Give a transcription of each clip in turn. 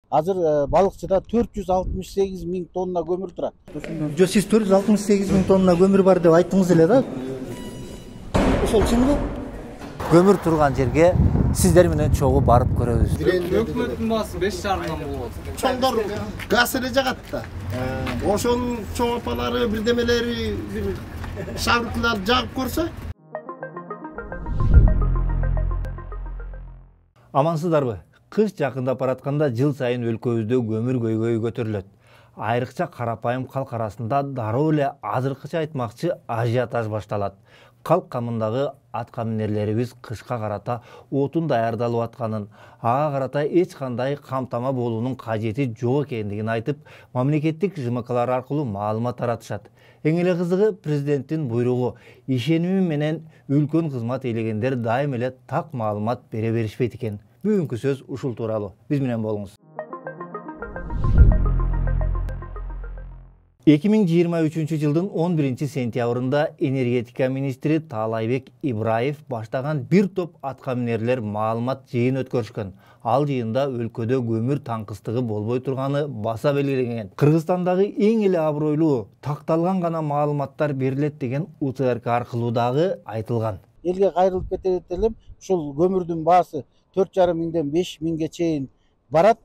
Азыр балыкчыда 468 000 тонна көмүр турат. Жо, сиз 468 000 тонна көмүр бар деп айттыңыз эле да. Ошол чынбы? Көмүр турган жерге сиздер менен чогуу барып көрөбүз. Өкмөттүн баасы 5,5 болот. Чоңдор газ эле жагат да. Ошонун чоң апалары, бирдемелери, бир шабыркалар жагып көрсө. Амансыздарбы? Кыш жакындап баратканда жыл сайын өлкөбүздө көмүр көйгөйү көтөрүлөт. Айрыкча карапайым калк арасында дароо эле азыркыча айтмакчы ажиотаж башталат. Калк камындагы атка минерлерибиз кышка карата отун даярдалып атканын, ага карата эч кандай камтама болуунун кажети жок экендигин айтып, мамлекеттик ЖМКлар аркылуу маалымат таратышат. Эң эле кызыгы, президенттин буйругу ишеними менен үлкөн кызмат ээлегендер дайым эле так маалымат бере беришпейт экен. Бүгүнкү сөз ушул тууралуу. Биз менен болуңуз. 2023 жылдын 11 сентябрында энергетика министри Таалайбек Ибраев баштаган бир топ атка минерлер маалымат жыйын өткөрүшкөн. Ал жыйында өлкөдө көмүр таңкыстыгы болбой турганы баса белгиленген. Кыргызстандагы эң эле абройлуу такталган гана маалыматтар берилет деген УТРК аркылуу дагы айтылган. Элге кайрылып кетет элем, ушул көмүрдүн баасы 4,5 миңден 5 миңге чейин барат.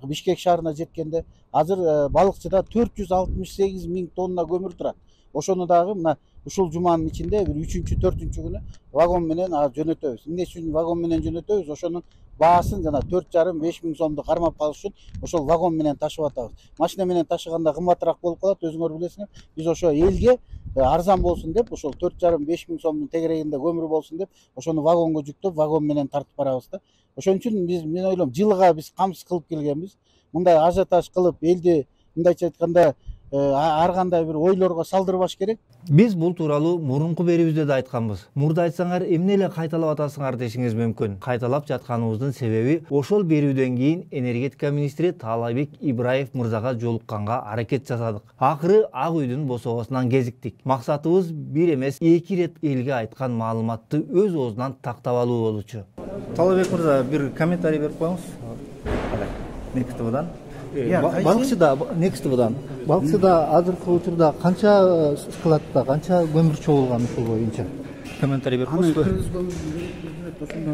Бишкек шаарына жеткенде азыр балыкчыда 468 000 тонна көмүр турат. Ошону дагы мына ушул жуманын ичинде бир 3-4 күнү вагон менен жөнөтөбүз. Эмне үчүн вагон менен жөнөтөбүз? Ошонун баасын жана 4,5-5 миң сомду кармап калыш үчүн ошол вагон менен ташып атабыз. Машина менен ташыганда кымбатыраак болуп калат, өзүңөр билесиңер. Биз ошо элге арзан болсун деп, ошол 4,5-5 миң сомдун тегерегинде көмүр болсун деп, ошону вагонго жүктөп, вагон менен тартып барабыз да. Ошон үчүн мен ойлойм, жылга биз камсыз кылып келгенбиз. Мындай ажиотаж кылып, элди мындайча айтканда ар кандай бир ойлорго салдырбаш керек. Биз бул тууралуу мурунку берүүбүздө да айтканбыз. Мурда айтсаңар, эмне эле кайталап атасыңар дешиңиз мүмкүн. Кайталап жатканыбыздын себеби ошол берүүдөн кийин энергетика министри Таалайбек Ибраев мырзага жолукканга аракет жасадык. Акыры Ак үйдүн босогосунан кезиктик. Максатыбыз бир эмес, 2 рет элге айткан маалыматты өз оозунан тактап алуу болчу. Таалайбек мырза, бир комментарий берип коюңуз. Next ТВдан. Next ТВдан. Балыкчыда азыркы учурда канча складта, канча көмүр чогулган ушул боюнча? Комментарий берип коюңузбу?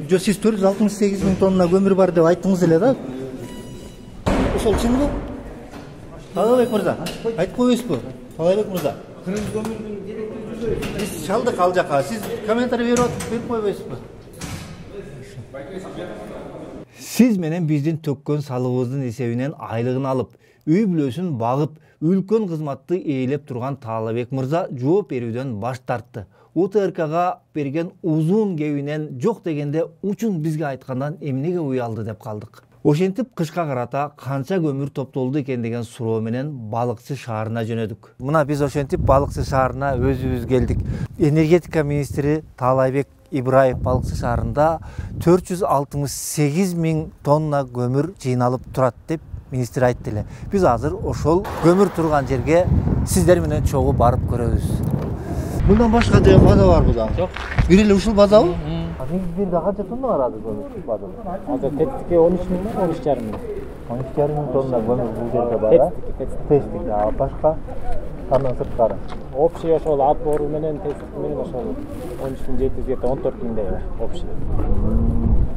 Жо, сиз 468 000 тонна көмүр бар деп айттыңыз эле да. Ошол чынбы? Таалайбек мырза, айтып коесузбу? Таалайбек мырза. Кыргыз көмүрдүн кереги Биз чалдык ал жака. Сиз комментарий берип койбойсузбу? Сиз менен биздин төккөн салыгыбыздын эсебинен айлыгын алып, үй бүлөсүн багып, үлкөн кызматты ээлеп турган Таалайбек мырза жооп берүүдөн баш тартты. УТРКга берген узун кебинен жок дегенде учун бизге айткандан эмнеге уялды деп калдык. Ошентип кышка карата канча көмүр топтолду экен деген суроо менен Балыкчы шаарына жөнөдүк. Мына биз ошентип Балыкчы шаарына өзүбүз келдик. Энергетика министри Таалайбек Ибраев Балыкчы шаарында 468 000 тонна көмүр жыйналып турат деп министр айтты эле. Биз азыр ошол көмүр турган жерге сиздер менен чогуу барып көрөбүз. Мындан башка деген база барбы дагы? Жок. Бир эле ушул базабы? Бир да канча тонна бар азыр көмүр базада? Азыр тетикке 13 миң, 13,5 миң. 13,5 миң тонна көмүр бул жерде бар. Тестик, башка андан сырткары. Общий ошол отбор менен тестик менен ошол 13,700 14 миңдей бар общий.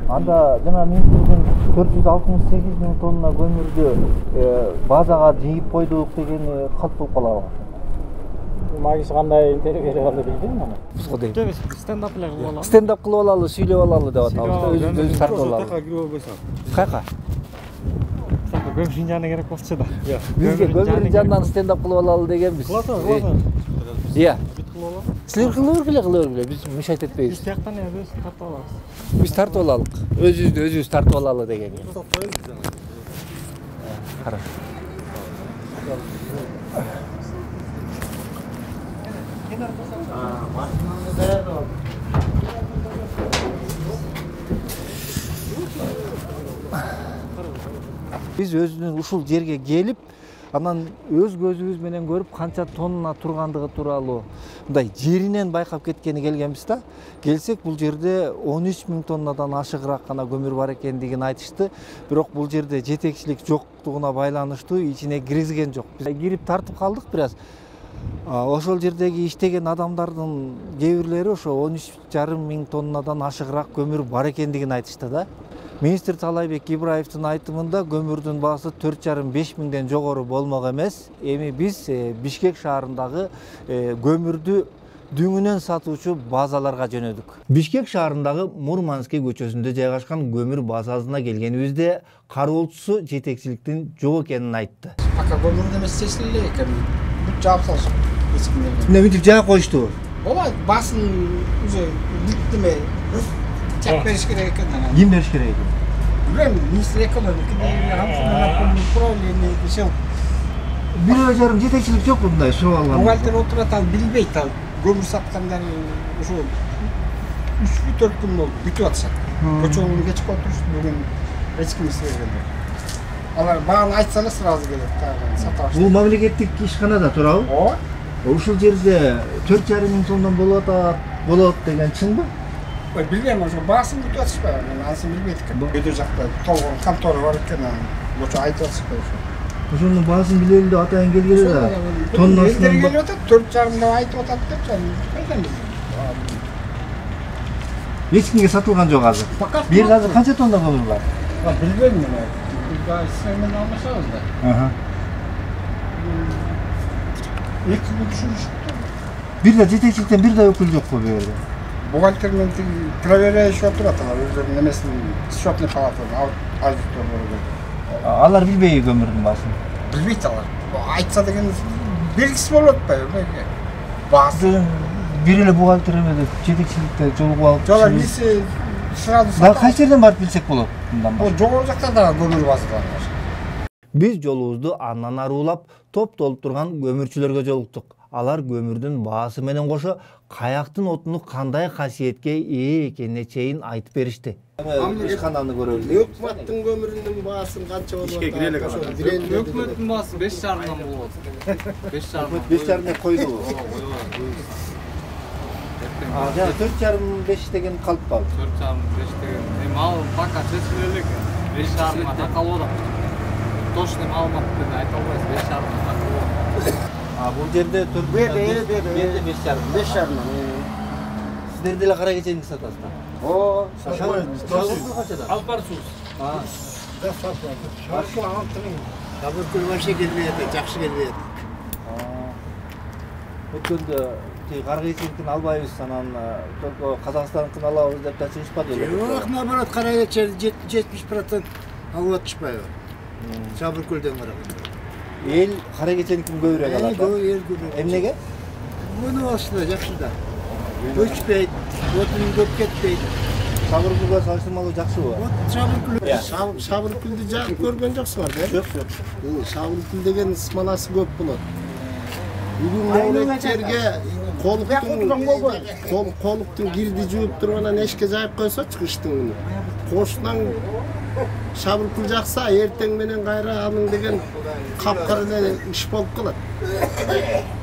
Анда жана министрдин 468 000 тонна көмүрдү базага жыйып койдук деген калп болуп калабы? Магис кандай интервью берип алды билбейм аны. Жок, Стендап эле кылып алалы. стендап кылып алалы, сүйлөп алалы деп атабыз. Өзүбүз тартып алалы. Кайка? Көмүр жыйынжаны керек болчу да. Бизге көмүрдүн жанынан стендап кылып алалы дегенбиз. Иә. Силер кылып бергиле, биз мешайт этпейбиз. Биз тияктан өзүбүз тартып алабыз. Биз тартып алалык. Өзүбүз тартып алалы деген. Хорошо. Биз өзүнүн ушул жерге келип, Анан өз көзүбүз менен көрүп канча тонна тургандыгы тууралуу мындай жеринен байкап кеткени келгенбиз да. Келсек бул жерде 13 000 тоннадан ашыгыраак гана көмүр бар экендигин айтышты. Бирок бул жерде жетекчилик жоктугуна байланыштуу ичине киргизген жок. Биз кирип тартып калдык бир аз. Ошол жердеги иштеген адамдардын кээ бирлери ошо 13,5 000 тоннадан ашыгыраак көмүр бар экендигин айтышты да. Министр Талайбек Ибраевдин айтымында көмүрдүн баасы 4,5-5 миңден жогору болмок эмес. Эми биз Бишкек шаарындагы көмүрдү дүңүнөн сатуучу базаларга жөнөдүк. Бишкек шаарындагы Мурманский көчөсүндө жайгашкан көмүр базасына келгенибизде кароолчусу жетекчиликтин жок экенин айтты. Пока көмүрдү эмес чечиле элек экен. Бүт жаап салышып. Мынтип жаап коюшту. Ооба, басын уже бүттүмө. Чак бериш керек экен анан. Ким бериш керек экен? Билем, министр экономики управление ишел. 1,5 жарым жетекчилик жокпу мындай сурап алган? Бухгалтер отурат, ал билбейт, ал көмүр саткандар ошо 3-4 күн болуп бүтүп атышат. Көчөгүн кечип отурушт, бүгүн эч ким эстебегендер. Алар бааны айтса эле сразу келет, сата баштайт. Бул мамлекеттик ишканада туурабы? Ооба. Ушул жерде 4,5 миң тоннадан болот деген чынбы? Ой, билбейм, ошо баасын бүтүп атышпайбы, мен анысын билбейт экен. Өйдө жакта толгон контора бар экен, ошо айтып атышпайбы ошо. Ошонун баасын билели деп атайын келгеле да. Тоннасынан келип атат, 4,5 деп айтып атат депчи, кайдан эч кимге сатылган жок азыр. Бир азыр канча тонна көмүр бар? Билбейм мен. Сиз менен алмашабыз да. Экинчи түшүрүштү. Бир да жетекчиликтен бир да өкүл жокпу бу жерде? Бухгалтер менен проверяющий отурат, алар өздөрүнүн эмесин счетный палатадан аудитор болот. Алар билбейби көмүрдүн баасын? Билбейт алар. Айтса деген белгисиз болуп атпайбы? Баасы бир эле бухгалтер эмес жетекчиликте жолугуп алып. Жок, биз сразу Да кайсы жерден барып билсек болот мындан башка? Жогору жакта да көмүр базалары бар. Биз жолубузду андан арулап топ толуп турган көмүрчүлөргө жолуктук. Алар көмүрдүн баасы менен кошо каяктын отуну кандай касиетке ээ экенине чейин айтып беришти. Ишкананы көрөлү. Өкмөттүн көмүрүнүн баасын канча болот? Бишке кире элек ошо. Өкмөттүн баасы 5,5 болот. 5,5. 5,5 койду. Жана 4,5 деген калып калды. 4,5 деген. Эми ал пока чечиле элек. 5,5 такалып атат. Точный маалыматты айта албайсыз. 5,5 такалып атат. Бул жерде 4,5. 5,5. Сиздер деле кара кеченики сатасыздар. О, Алып барсыз. Табыркөл вообще келбейт, жакшы келбейт. Өткөндө кара кеченикин албайбыз, анан только Казакстандыкын алабыз деп да чыгышпады эле. Жок, наоборот, кара кечени 70% алып атышпайбы? Табыркөлдөн караганда. Эл кара кеченикин көбүрөөк алат. Эмнеге? Муну алышты, жакшы да. Көчпейт, отун көп кетпейт. Сабыркүлгө салыштырмалуу жакшыбы? Сабыркүлдү жагып көргөн жоксуңар да? Жок. Сабыркүл деген смоласы көп болот. Бүгүн мөлектерге колуктун кирди жууп туруп анан эшикке жайып койсочу кыштын күнү. Кошунан сабыркүл жакса, эртең менен кайра анын деген капкара эле иш болуп калат.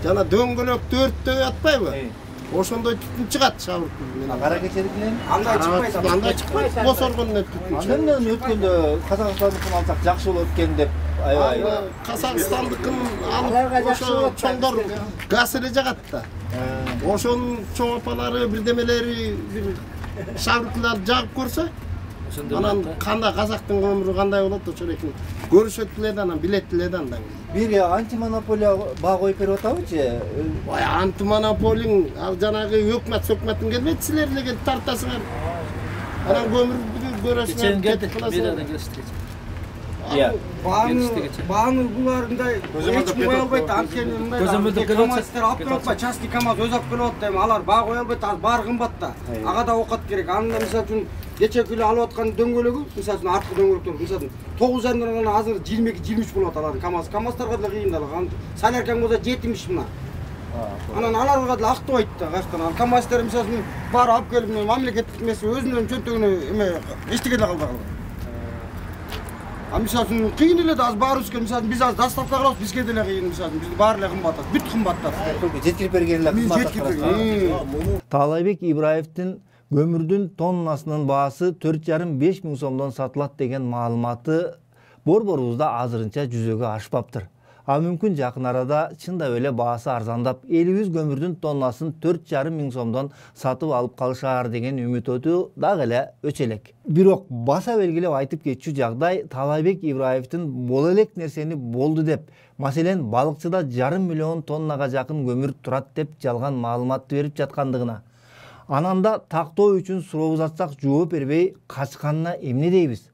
Жана дөңгөлөктү өрттөй атпайбы? Ошондой түтүн чыгат сабыркүл менен. Кара кеченик менен Андай чыкпайт. Босоргондон түтүн чыгат. андан өткөндө Казакстандыкын алсак жакшы болот экен деп аябай. Казакстандыкын алып ошо чоңдор газ эле жагат да. Ошонун чоң апалары бирдемелери бир сабыркылар жагып көрсө, анан кандай казактын көмүрү кандай болот ошо экен. Көрүшөт эле да, анан билет эле да андан. Бир антимонополия баа коюп берип атабычы? Ой, антимонополиң ал жанагы өкмөттүн келбейт, силер эле келип тартасыңар. Анан көмүрдү көрөсүңөр, кетип каласыңар. Бааны буларындай эч ким кое албайт, анткени мындай КамАЗдер алып келип атпайбы, частный КамАЗ өзү алып келип атты, эми алар баа кое албайт, ал баары кымбат да. Ага да окат керек. Анда мисалы үчүн кече күнү алып аткан дөңгөлөгү, мисалы үчүн арткы дөңгөлөктөр, мисалы үчүн 9,5 азыр 22-23 болот алардын КамАЗдарга деле кыйын да. Соляркаң болсо 70 мына. Анан аларга деле актабайт да, каяктан. Ал КамАЗдер мисалы үчүн баары алып келип мамлекеттик эмеси өзүнүн чөнтөгүнө эме эчтеке деле калбай калат. Мисалы үчүн кыйын эле да азыр баарыбызга, мисалы биз азыр доставка кылабыз, бизге деле кыйын, мисалы бизди баары эле кымбат, бүт кымбаттап. Жеткирип берген эле кызмат. Таалайбек Ибраевдин көмүрдүн тоннасынын баасы 4,5 миң сомдон сатылат деген маалыматы борборубузда азырынча жүзөгө ашпаптыр. А мүмкүн жакын арада чындап эле баасы арзандап, элибиз көмүрдүн тоннасын 4,5 миң сомдон сатып алып калышаар деген үмүт өтүү дагы эле өчөлөк. Бирок баса белгилеп айтып кетчү жагдай Таалайбек Ибраевдин бул элек нерсени болду деп, маселен, балыкчыда 1,5 миллион тоннага жакын көмүр турат деп жалган маалыматты берип жаткандыгына. Анан да тактоо үчүн суроо узатсак жооп бербей качканына эмне дейбиз?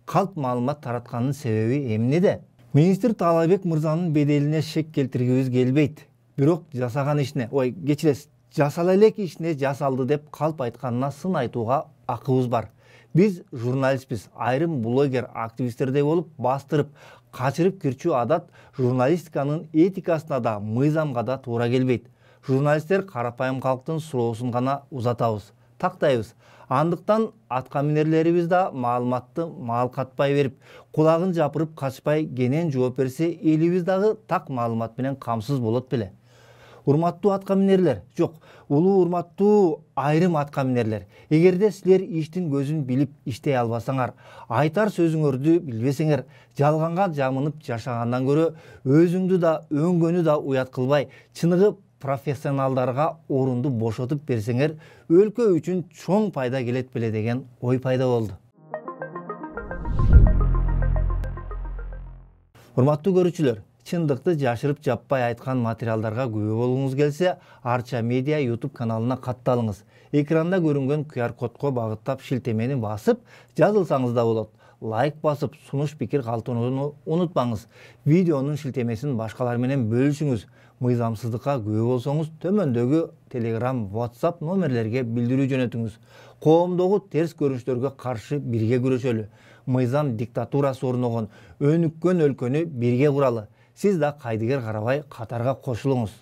Калп маалымат тараткандын себеби эмнеде? Министр Таалайбек мырзанын беделине шек келтиргибиз келбейт. Бирок жасаган ишине, кечиресиз, жасала элек ишине жасалды деп калп айтканына сын айтууга акыбыз бар. Биз журналистпиз, айрым блогер, активисттердей болуп бастырып, качырып кирчүү адат журналистиканын этикасына да, мыйзамга да туура келбейт. Журналисттер карапайым калктын суроосун гана узатабыз, тактайбыз. Андыктан атка минерлерибиз да маалыматты маал катпай берип, кулагын жапырып качпай кенен жооп берсе, элибиз дагы так маалымат менен камсыз болот беле. Урматтуу атка минерлер, жок, улуу урматтуу айрым атка минерлер, эгерде силер иштин көзүн билип иштей албасаңар, айтар сөзүңөрдү билбесеңер, жалганга жамынып жашагандан көрө өзүңдү да өңгөнү да уят кылбай, чыныгы профессионалдарга орунду бошотуп берсеңер, өлкө үчүн чоң пайда келет беле деген ой пайда болду. Урматтуу көрүүчүлөр, чындыкты жашырып жаппай айткан материалдарга күбө болгуңуз келсе, Арча Медиа YouTube каналына катталыңыз. Экранда көрүнгөн QR кодко багыттап шилтемени басып, жазылсаңыз да болот. Лайк басып, сунуш пикир калтырууну унутпаңыз. Видеонун шилтемесин башкалар менен бөлүшүңүз. Мыйзамсыздыкка күбө болсоңуз, төмөндөгү Telegram, WhatsApp номерлерге билдирүү жөнөтүңүз. Коомдогу терс көрүнүштөргө каршы бирге күрөшөлү. Мыйзам диктатурасы орногон, өнүккөн өлкөнү бирге куралы. Сиз да кайдыгер карабай катарга кошулуңуз.